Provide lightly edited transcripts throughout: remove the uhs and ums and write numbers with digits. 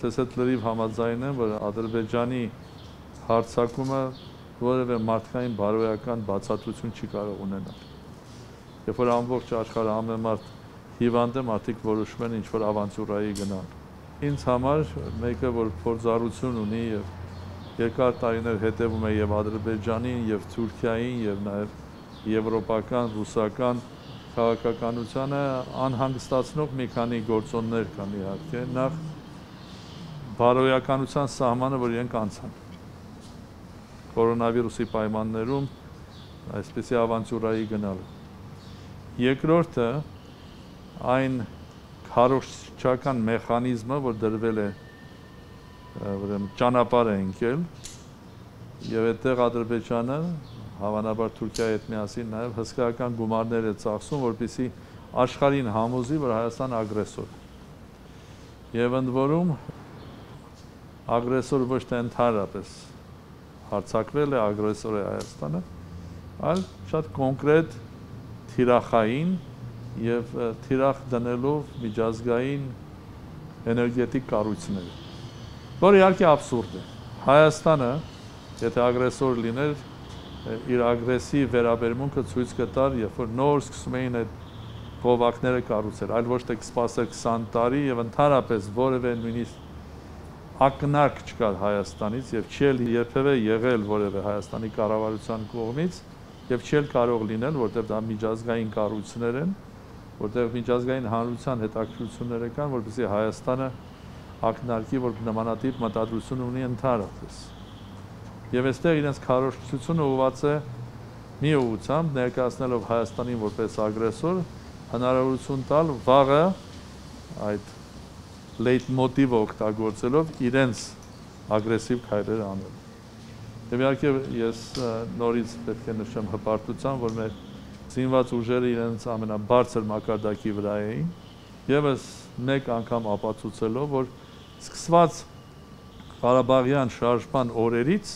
Ես այդ լրիվ համաձայն եմ, որ Ադրբեջանի հարձակումը որևէ մարդկային բարոյական բացատրություն չի կարող ունենալ։ Երբ որ ամբողջ աշխարհը ամեն մարդ հիվանդ է, մարդիկ որոշում են ինչ-որ ավանտյուրայի գնալ։ Ինձ համար մեկը, որ փորձառություն ունի եւ երկար տարիներ հետևում է եւ Ադրբեջանին, եւ Թուրքիային, եւ նաեւ եվրոպական, ռուսական քաղաքականությանը անհանգստացնող մի քանի գործոններ կան իհարկե։ Նախ բարոյականության սահմանը, որ իրենք անցան։ Կորոնավիրուսի պայմաններում այսպիսի ավանտյուրայի գնալը։ Երկրորդը այն քարոզչական մեխանիզմը, որ դրվել է ուրեմն ճանապարհ է ընկել եւ այդտեղ Ադրբեջանը հավանաբար Թուրքիայի հետ միասին նաեւ հսկայական գումարներ է ծախսում, որպեսզի աշխարհին համոզի, որ Հայաստանը ագրեսոր է։ Եվ ընդ որում ագրեսոր ոչ թե ընդհանրապես հարձակվել է, ագրեսոր է Հայաստանը, այլ շատ կոնկրետ թիրախային եւ թիրախ դնելով միջազգային էներգետիկ կառույցներ, որ իհարկե աբսուրդ է։ Հայաստանը, եթե ագրեսոր լիներ, իր ագրեսիվ վերաբերմունքը ցույց կտար, երբ որ նոր սկսում էին այդ գովակները կառուցել, այլ ոչ թե կսպասեր 20 տարի եւ ընդհանրապես որևէ նույնիսկ ակնարկ չկար Հայաստանից եւ չի երբևէ եղել որևէ Հայաստանի կառավարության կողմից եւ չի կարող լինել, որտեղ դա միջազգային կառույցներ են, որտեղ միջազգային հանրության հետաքրքրություններ կան, որպեսզի Հայաստանը ակնարկի, որ նմանատիպ մտադրություն ունի ընդհանրապես։ Եվ այստեղ իրենց քարոզչությունը ուղղված է մի ուղղությամբ ներկայացնելով Հայաստանին որպես ագրեսոր, հնարավորություն տալ վաղը այդ լեյտմոտիվը օգտագործելով իրենց ագրեսիվ քայլեր անել։ Եվ իհարկե ես նորից պետք է նշեմ հպարտությամբ, որ մեր զինված ուժերը իրենց ամենաբարձր մակարդակի վրա էին, եւս մեկ անգամ ապացուցելով, որ սկսված Ղարաբաղյան շարժման օրերից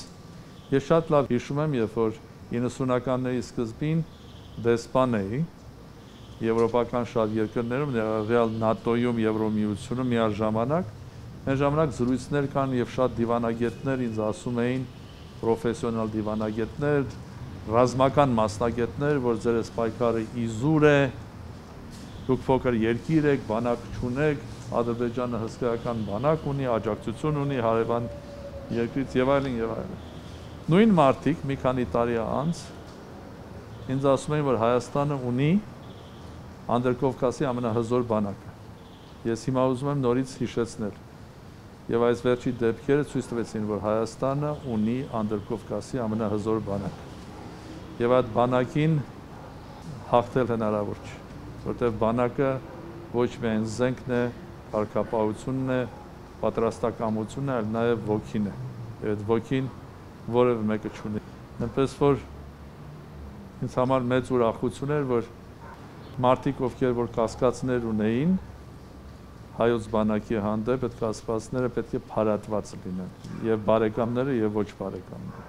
ես շատ լավ հիշում եմ, երբ որ 90-ականների սկզբին դեսպան էի եվրոպական շատ երկրներում, ներառյալ ՆԱՏՕ-ում, Եվրոմիությունում միաժամանակ, այն ժամանակ զրույցներ կան եւ շատ դիվանագետներ ինձ ասում էին, պրոֆեսիոնալ դիվանագետներ, ռազմական մասնագետներ, որ ձեր պայքարը իզուր է, դուք փոքր երկիր եք, բանակ չունեք, Ադրբեջանը հսկայական բանակ ունի, աջակցություն ունի հարևան երկրից եւ այլն եւ այլն։ Նույն մարդիկ մի քանի տարի անց ինձ ասում էին, որ Հայաստանը ունի Անդրկովկասի ամենահզոր բանակը։ Ես հիմա ուզում եմ նորից հիշեցնել։ Եվ այս վերջի դեպքերը ցույց տվեցին, որ Հայաստանը ունի Անդրկովկասի ամենահզոր բանակ։ Եվ այդ բանակին հաղթել հնարավոր չէ, որտեղ բանակը ոչ միայն զենքն է, կարգապահությունն է, պատրաստակամությունն է, այլ նաև ոգին է։ Եվ այդ ոգին որևէ մեկը չունի։ Այնպես որ ինձ համար մեծ ուրախություն էր, որ մարդիկ, ովքեր որ կասկածներ ունեին հայոց բանակի հանդեպ, այդ կասկածները պետք է փարատված լինեն, եւ բարեկամները եւ ոչ բարեկամները։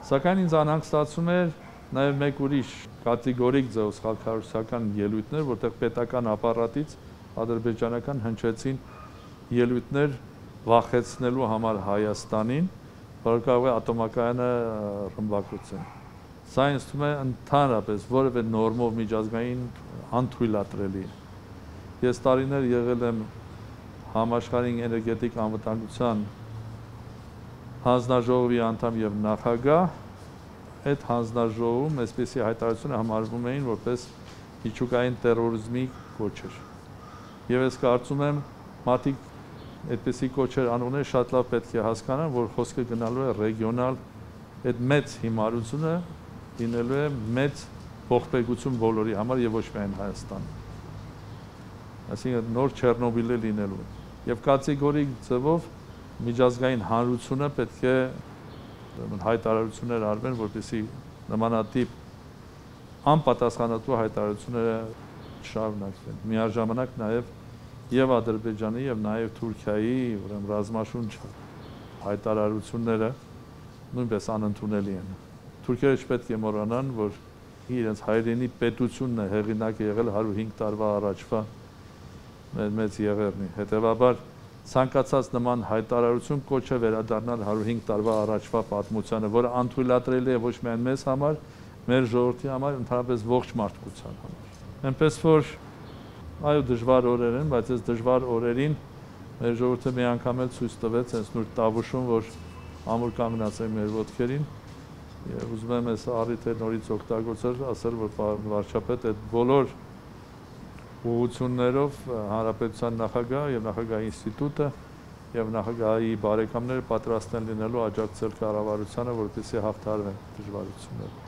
Սակայն ինձ անհանգստացում էր նաեւ մեկ ուրիշ կատեգորիկ ձեւով խաղաղության ելույթներ, որտեղ պետական ապարատից ադրբեջանական հնչեցին ելույթներ վախեցնելու համար Հայաստանին, որ կարող է ատոմակայանը ռմբակոծել։ Սա ինձ թվում է ընդհանրապես որևէ նորմով միջազգային անթույլատրելի է։ Ես տարիներ եղել եմ համաշխարհային էներգետիկ անվտանգության հանձնաժողովի անդամ եւ նախագահ, այդ հանձնաժողովում այսպիսի հայտարարությունը համարվում էին որպես միջուկային տերորիզմի կոչեր։ Եվ ես կարծում եմ, մարդիկ այդպիսի կոչեր անուններ շատ լավ պետք է հասկանան, որ խոսքը գնալու է ռեգիոնալ այդ մեծ հիմարությունը լինելու է մեծ ողբերգություն բոլորի համար եւ ոչ միայն Հայաստանի։ Այսինքն նոր Չեռնոբիլը լինելու է։ Եվ կատեգորիկ ձևով միջազգային հանրությունը պետք է հայտարարություններ արվեն, որպեսզի նմանատիպ անպատասխանատու հայտարարությունները շարունակվեն։ Միաժամանակ նաեւ եւ Ադրբեջանի եւ նաեւ Թուրքիայի, ուրեմն ռազմաշունչ հայտարարությունները նույնպես անընդունելի են։ Թուրքերը չպետք է մոռանան, որ իրենց հայրենի պետությունն է հեղինակ եղել 105 տարվա առաջվա մեծ եղերնի։ Հետևաբար ցանկացած նման հայտարարություն կոչ է վերադառնալ 105 տարվա առաջվա պատմությանը, որը անթույլատրելի է ոչ միայն մեզ համար, մեր ժողովրդի համար, ընդհանրապես ողջ մարդկության համար։ Այնպես որ այո, դժվար օրեր են, բայց այս դժվար օրերին մեր ժողովուրդը մի անգամ էլ ցույց տվեց այս նոր տավուշում, որ ամուր կանգնած է մեր ոտքերին, եւ ուզում եմ այս առիթը նորից օգտագործել, ասել, որ վարչապետ այդ բոլոր ուղղություններով հանրապետության նախագահ եւ նախագահի ինստիտուտը եւ նախագահի բարեկամները պատրաստ են լինելու աջակցել կառավարությանը, որպեսզի հաղթահարվեն դժվարությունները։